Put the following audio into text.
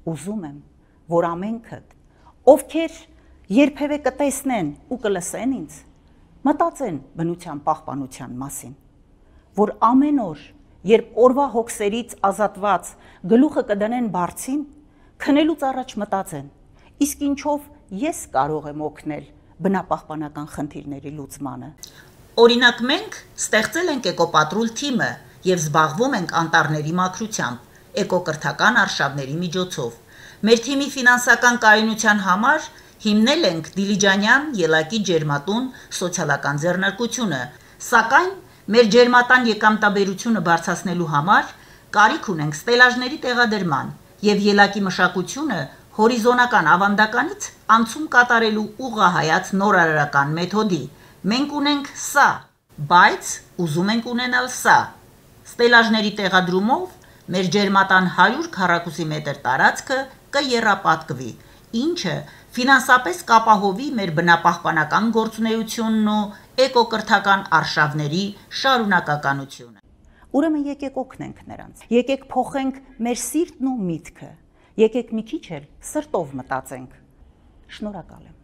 ուզում եմ, որ ամենքդ, ովքեր երբևէ կտեսնեն ու կլսեն ինձ, մտածեն բնության պահպանության մասին, որ ամեն օր, երբ օրվա հոգսերից ազատված գլուխը կդնեն բարձին, քնելուց առաջ մտածեն, իսկ ինչով ես կարող եմ օգնել բնապահպանական խնդիրների լուծմանը։ Օրինակ մենք ստեղծել ենք էկոպատրուլ թիմը եւ զբաղվում ենք անտառների մաքրությամբ, էկոկրթական արշավների միջոցով։ Մեր թիմի ֆինանսական կայունության համար հիմնել ենք Դիլիջանյան ելակի ջերմատուն սոցիալական ձեռնարկությունը, սակայն մեր ջերմատան եկամտաբերությունը բարձրացնելու համար կարիք ունենք ստելաժների տեղադրման եւ ելակի մշակությունը հորիզոնական ավանդականից անցում կատարելու ուղղահայաց նորարարական մեթոդի։ Մենք ունենք սա, բայց ուզում ենք ունենալ սա։ Ստելաժների տեղադրումով մեր ջերմատան 100 քառակուսի մետր տարածքը կեռապատկվի, ինչը ֆինանսապես կապահովի մեր բնապահպանական գործունեությունն ու էկոկրթական արշավների շարունակականությունը։ Ուրեմն եկեք օգնենք նրանց, եկեք փոխենք մեր սիրտն ու միտքը, եկեք մի քիչ էլ սրտով մտածենք։ Շնորհակալ եմ։